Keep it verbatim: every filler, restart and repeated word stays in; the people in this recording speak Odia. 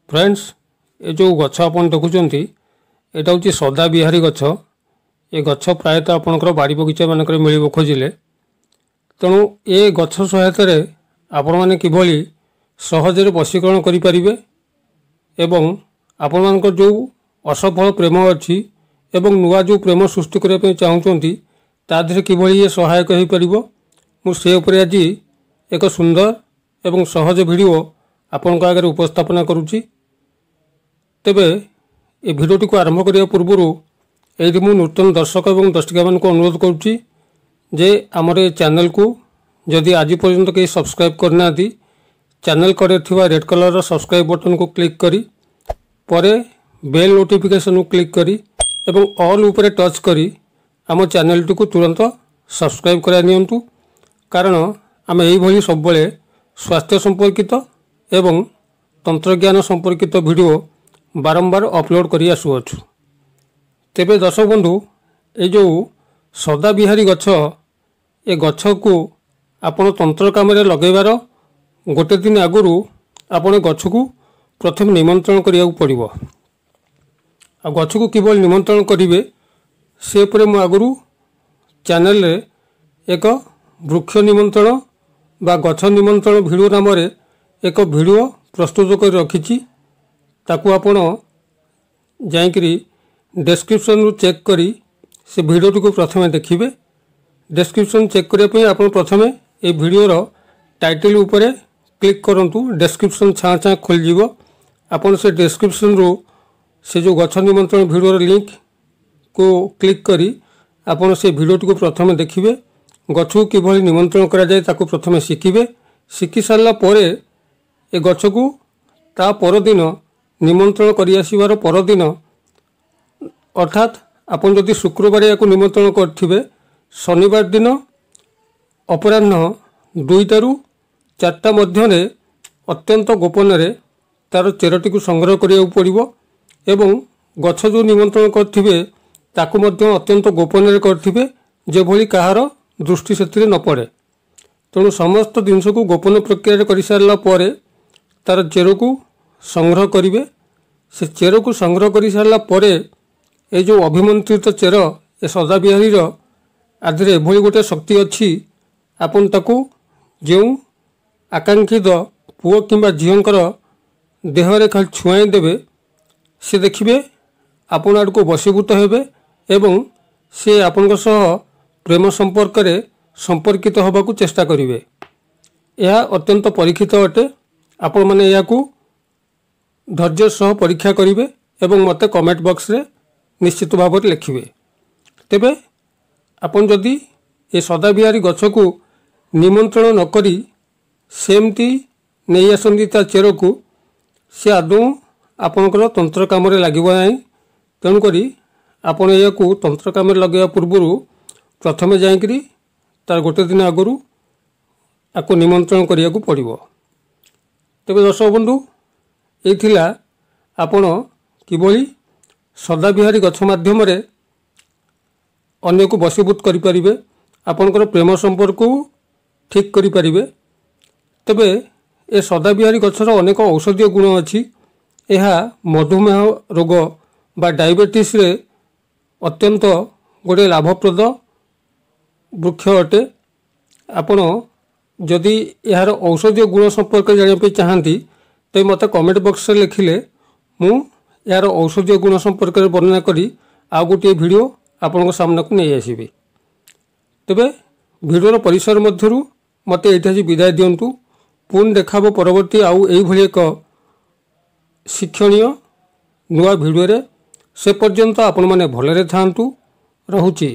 ଫ୍ରେଣ୍ଡସ୍, ଏ ଯେଉଁ ଗଛ ଆପଣ ଦେଖୁଛନ୍ତି, ଏଇଟା ହେଉଛି ସଦାବିହାରୀ ଗଛ। ଏ ଗଛ ପ୍ରାୟତଃ ଆପଣଙ୍କର ବାଡ଼ି ବଗିଚା ମାନଙ୍କରେ ମିଳିବ ଖୋଜିଲେ। ତେଣୁ ଏ ଗଛ ସହାୟତାରେ ଆପଣମାନେ କିଭଳି ସହଜରେ ବଶୀକରଣ କରିପାରିବେ ଏବଂ ଆପଣମାନଙ୍କର ଯେଉଁ ଅସଫଳ ପ୍ରେମ ଅଛି ଏବଂ ନୂଆ ଯେଉଁ ପ୍ରେମ ସୃଷ୍ଟି କରିବା ପାଇଁ ଚାହୁଁଛନ୍ତି, ତା ଦେହରେ କିଭଳି ଇଏ ସହାୟକ ହୋଇପାରିବ, ମୁଁ ସେ ଉପରେ ଆଜି ଏକ ସୁନ୍ଦର ଏବଂ ସହଜ ଭିଡ଼ିଓ ଆପଣଙ୍କ ଆଗରେ ଉପସ୍ଥାପନା କରୁଛି। ତେବେ ଏ ଭିଡ଼ିଓଟିକୁ ଆରମ୍ଭ କରିବା ପୂର୍ବରୁ ଏଇଠି ମୁଁ ନୂତନ ଦର୍ଶକ ଏବଂ ଦର୍ଶିକାମାନଙ୍କୁ ଅନୁରୋଧ କରୁଛି ଯେ ଆମର ଏ ଚ୍ୟାନେଲକୁ ଯଦି ଆଜି ପର୍ଯ୍ୟନ୍ତ କେହି ସବସ୍କ୍ରାଇବ୍ କରିନାହାନ୍ତି, ଚ୍ୟାନେଲ କଡ଼ରେ ଥିବା ରେଡ୍ କଲର୍ର ସବସ୍କ୍ରାଇବ୍ ବଟନ୍କୁ କ୍ଲିକ୍ କରି, ପରେ ବେଲ୍ ନୋଟିଫିକେସନ୍କୁ କ୍ଲିକ୍ କରି ଏବଂ ଅଲ୍ ଉପରେ ଟଚ୍ କରି ଆମ ଚ୍ୟାନେଲଟିକୁ ତୁରନ୍ତ ସବସ୍କ୍ରାଇବ୍ କରାଇ ନିଅନ୍ତୁ, କାରଣ ଆମେ ଏଇଭଳି ସବୁବେଳେ ସ୍ୱାସ୍ଥ୍ୟ ସମ୍ପର୍କିତ ଏବଂ ତନ୍ତ୍ରଜ୍ଞାନ ସମ୍ପର୍କିତ ଭିଡ଼ିଓ ବାରମ୍ବାର ଅପଲୋଡ଼ କରି ଆସୁଅଛୁ। ତେବେ ଦର୍ଶକ ବନ୍ଧୁ, ଏ ଯେଉଁ ସଦାବିହାରୀ ଗଛ, ଏ ଗଛକୁ ଆପଣ ତନ୍ତ୍ର କାମରେ ଲଗାଇବାର ଗୋଟେ ଦିନ ଆଗରୁ ଆପଣ ଗଛକୁ ପ୍ରଥମେ ନିମନ୍ତ୍ରଣ କରିବାକୁ ପଡ଼ିବ। ଆଉ ଗଛକୁ କିଭଳି ନିମନ୍ତ୍ରଣ କରିବେ, ସେ ଉପରେ ମୁଁ ଆଗରୁ ଚ୍ୟାନେଲରେ ଏକ ବୃକ୍ଷ ନିମନ୍ତ୍ରଣ ବା ଗଛ ନିମନ୍ତ୍ରଣ ଭିଡ଼ିଓ ନାମରେ ଏକ ଭିଡ଼ିଓ ପ୍ରସ୍ତୁତ କରି ରଖିଛି। ତାକୁ ଆପଣ ଯାଇକରି ଡେସ୍କ୍ରିପସନ୍ରୁ ଚେକ୍ କରି ସେ ଭିଡ଼ିଓଟିକୁ ପ୍ରଥମେ ଦେଖିବେ। ଡେସ୍କ୍ରିପସନ୍ ଚେକ୍ କରିବା ପାଇଁ ଆପଣ ପ୍ରଥମେ ଏଇ ଭିଡ଼ିଓର ଟାଇଟଲ୍ ଉପରେ କ୍ଲିକ୍ କରନ୍ତୁ, ଡେସ୍କ୍ରିପସନ୍ ଛାଁ ଛାଁ ଖୋଲିଯିବ। ଆପଣ ସେ ଡେସ୍କ୍ରିପସନ୍ରୁ ସେ ଯେଉଁ ଗଛ ନିମନ୍ତ୍ରଣ ଭିଡ଼ିଓର ଲିଙ୍କ୍କୁ କ୍ଲିକ୍ କରି ଆପଣ ସେ ଭିଡ଼ିଓଟିକୁ ପ୍ରଥମେ ଦେଖିବେ। ଗଛକୁ କିଭଳି ନିମନ୍ତ୍ରଣ କରାଯାଏ, ତାକୁ ପ୍ରଥମେ ଶିଖିବେ। ଶିଖି ସାରିଲା ପରେ ଏ ଗଛକୁ ତା ପରଦିନ ନିମନ୍ତ୍ରଣ କରି ଆସିବାର ପରଦିନ, ଅର୍ଥାତ୍ ଆପଣ ଯଦି ଶୁକ୍ରବାର ଏହାକୁ ନିମନ୍ତ୍ରଣ କରିଥିବେ, ଶନିବାର ଦିନ ଅପରାହ୍ନ ଦୁଇଟାରୁ ଚାରିଟା ମଧ୍ୟରେ ଅତ୍ୟନ୍ତ ଗୋପନରେ ତା'ର ଚେରଟିକୁ ସଂଗ୍ରହ କରିବାକୁ ପଡ଼ିବ ଏବଂ ଗଛ ଯେଉଁ ନିମନ୍ତ୍ରଣ କରିଥିବେ, ତାକୁ ମଧ୍ୟ ଅତ୍ୟନ୍ତ ଗୋପନରେ କରିଥିବେ, ଯେଭଳି କାହାର ଦୃଷ୍ଟି ସେଥିରେ ନ ପଡ଼େ। ତେଣୁ ସମସ୍ତ ଜିନିଷକୁ ଗୋପନ ପ୍ରକ୍ରିୟାରେ କରିସାରିଲା ପରେ ତା'ର ଚେରକୁ ସଂଗ୍ରହ କରିବେ। ସେ ଚେରକୁ ସଂଗ୍ରହ କରିସାରିଲା ପରେ ଏ ଯେଉଁ ଅଭିମନ୍ତ୍ରିତ ଚେର, ଏ ସଦାବିହାରୀର ଆଧିରେ ଏଭଳି ଗୋଟେ ଶକ୍ତି ଅଛି, ଆପଣ ତାକୁ ଯେଉଁ ଆକାଂକ୍ଷିତ ପୁଅ କିମ୍ବା ଝିଅଙ୍କର ଦେହରେ ଖାଲି ଛୁଆଁଇ ଦେବେ, ସେ ଦେଖିବେ ଆପଣ ଆଡ଼କୁ ବଶୀଭୂତ ହେବେ ଏବଂ ସେ ଆପଣଙ୍କ ସହ ପ୍ରେମ ସମ୍ପର୍କରେ ସମ୍ପର୍କିତ ହେବାକୁ ଚେଷ୍ଟା କରିବେ। ଏହା ଅତ୍ୟନ୍ତ ପରୀକ୍ଷିତ ଅଟେ। ଆପଣମାନେ ଏହାକୁ ଧୈର୍ଯ୍ୟ ସହ ପରୀକ୍ଷା କରିବେ ଏବଂ ମୋତେ କମେଣ୍ଟ ବକ୍ସରେ ନିଶ୍ଚିତ ଭାବରେ ଲେଖିବେ। ତେବେ ଆପଣ ଯଦି ଏ ସଦାବିହାରୀ ଗଛକୁ ନିମନ୍ତ୍ରଣ ନ କରି ସେମିତି ନେଇ ଆସନ୍ତି ତା ଚେରକୁ, ସେ ଆଦୌ ଆପଣଙ୍କର ତନ୍ତ୍ର କାମରେ ଲାଗିବ ନାହିଁ। ତେଣୁକରି ଆପଣ ଏହାକୁ ତନ୍ତ୍ର କାମରେ ଲଗାଇବା ପୂର୍ବରୁ ପ୍ରଥମେ ଯାଇକରି ତାର ଗୋଟେ ଦିନ ଆଗରୁ ଆକୁ ନିମନ୍ତ୍ରଣ କରିବାକୁ ପଡ଼ିବ। ତେବେ ଦର୍ଶକ ବନ୍ଧୁ, ଏଇ ଥିଲା ଆପଣ କିଭଳି ସଦାବିହାରୀ ଗଛ ମାଧ୍ୟମରେ ଅନ୍ୟକୁ ବଶୀଭୂତ କରିପାରିବେ, ଆପଣଙ୍କର ପ୍ରେମ ସମ୍ପର୍କକୁ ଠିକ୍ କରିପାରିବେ। ତେବେ ଏ ସଦାବିହାରୀ ଗଛର ଅନେକ ଔଷଧୀୟ ଗୁଣ ଅଛି। ଏହା ମଧୁମେହ ରୋଗ ବା ଡାଇବେଟିସ୍ରେ ଅତ୍ୟନ୍ତ ଗୋଟିଏ ଲାଭପ୍ରଦ ବୃକ୍ଷ ଅଟେ। ଆପଣ ଯଦି ଏହାର ଔଷଧୀୟ ଗୁଣ ସମ୍ପର୍କରେ ଜାଣିବା ପାଇଁ ଚାହାନ୍ତି, ତେବେ ମୋତେ କମେଣ୍ଟ ବକ୍ସରେ ଲେଖିଲେ ମୁଁ ଏହାର ଔଷଧୀୟ ଗୁଣ ସମ୍ପର୍କରେ ବର୍ଣ୍ଣନା କରି ଆଉ ଗୋଟିଏ ଭିଡ଼ିଓ ଆପଣଙ୍କ ସାମ୍ନାକୁ ନେଇ ଆସିବି। ତେବେ ଭିଡ଼ିଓର ପରିସର ମଧ୍ୟରୁ ମୋତେ ଏଇଠି ଆଜି ବିଦାୟ ଦିଅନ୍ତୁ। ପୁଣି ଦେଖା ହେବ ପରବର୍ତ୍ତୀ ଆଉ ଏଇଭଳି ଏକ ଶିକ୍ଷଣୀୟ ନୂଆ ଭିଡ଼ିଓରେ। ସେ ପର୍ଯ୍ୟନ୍ତ ଆପଣମାନେ ଭଲରେ ଥାଆନ୍ତୁ। ରହୁଛି।